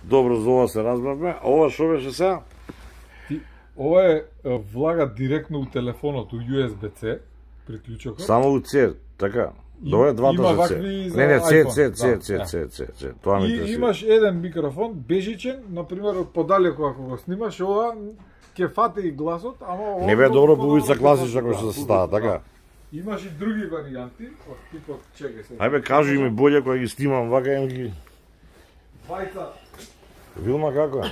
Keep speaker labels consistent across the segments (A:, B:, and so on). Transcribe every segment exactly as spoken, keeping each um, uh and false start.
A: Добро, за ова се разбравме. А ова шо беше сега?
B: Ти, ова е влага директно у телефонот, у ю ес би-C приклучокот.
A: Само у C, така. Добре, двата
B: има
A: за
B: вакви
A: C.
B: за
A: Не, не, C, C,
B: iPhone,
A: C,
B: да,
A: C,
B: да.
A: C, C, C. Тоа ме
B: И
A: интересира.
B: имаш еден микрофон, бежичен, например, од подалеку ако го снимаш, ова ќе фати и гласот, ама ова...
A: Не бе добро
B: подобро
A: бубица
B: ќе
A: класична
B: фати,
A: кој што
B: да,
A: се става,
B: бубица,
A: така.
B: да. Имаш и други варијанти, од типот чеке се.
A: Ајбе, кажи ми боле кога ги снимам, вака им ги...
B: Двајца.
A: Вилма како е?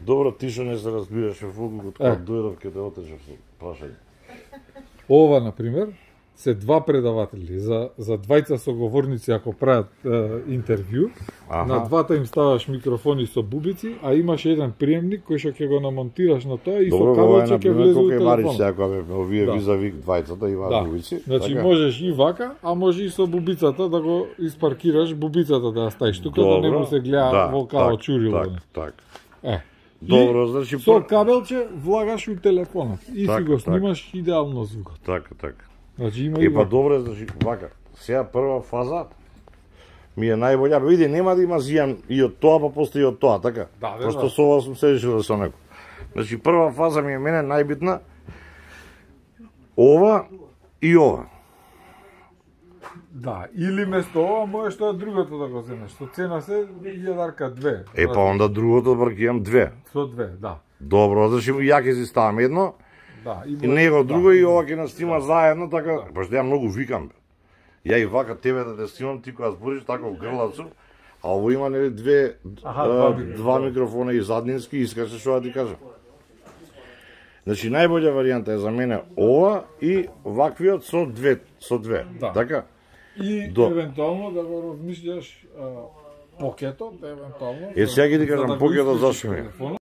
A: Добро, ти што не се разбираш во фулкот, кога дојдов ке те отечев со прашање.
B: Ова, например, се два предаватели за за двајца соговорници ако прават е, интервју.
A: Аха.
B: На двата им ставаш микрофони со бубици, а имаш еден приемник кој што ќе го намонтираш на тоа и
A: Добро,
B: со
A: ова е
B: кабелче
A: на
B: ќе
A: пример
B: влезе у
A: колку е Марич
B: телефонот.
A: сега кога бе овие
B: Да.
A: визави двајцата има
B: Да.
A: бубици.
B: Значи
A: така?
B: можеш и вака, а може и со бубицата да го испаркираш, бубицата да ја ставиш тука да не му се гледа
A: да,
B: во као
A: так,
B: чурило.
A: Так, так.
B: Е.
A: Добро,
B: И
A: значи
B: со
A: пр-
B: кабелче влагаш у телефонот и
A: Так,
B: си го
A: так.
B: снимаш идеално звукот.
A: Така, така.
B: Значи има и
A: Е, па
B: вака.
A: добре, значи, вака, сега прва фаза ми е најбоља, бе, види, нема да има зијан и од тоа, па после и од тоа, така?
B: Да, бе,
A: Пошто
B: да.
A: со ова сум се решил да со него. Значи, прва фаза ми е мене најбитна, ова и ова.
B: Да, или место ова можеш тоа другото да го земеш. Со цена се илјадарка две.
A: Е, па онда другото бркијам две.
B: Со две, да.
A: Добро, значи, ја ќе си ставам едно,
B: Да,
A: и него друго
B: да.
A: и ова ќе нас снима заедно, така, пошто ја многу викам, бе. Ја и вака тебе да те снимам, ти кога збориш така во грлацу, а ово има нели две,
B: Аха,
A: а,
B: два
A: два,
B: микрофона.
A: микрофона и заднински, искаше што да ти кажам. Значи најбоља варијанта е за мене ова и ваквиот со две, со две.
B: Да.
A: Така?
B: И
A: До-
B: евентуално да го размислиш а, покетот, евентуално.
A: Е, сега ќе ти
B: за
A: кажам
B: да го
A: покетот
B: исклучиш
A: зашто ми е.
B: телефонот.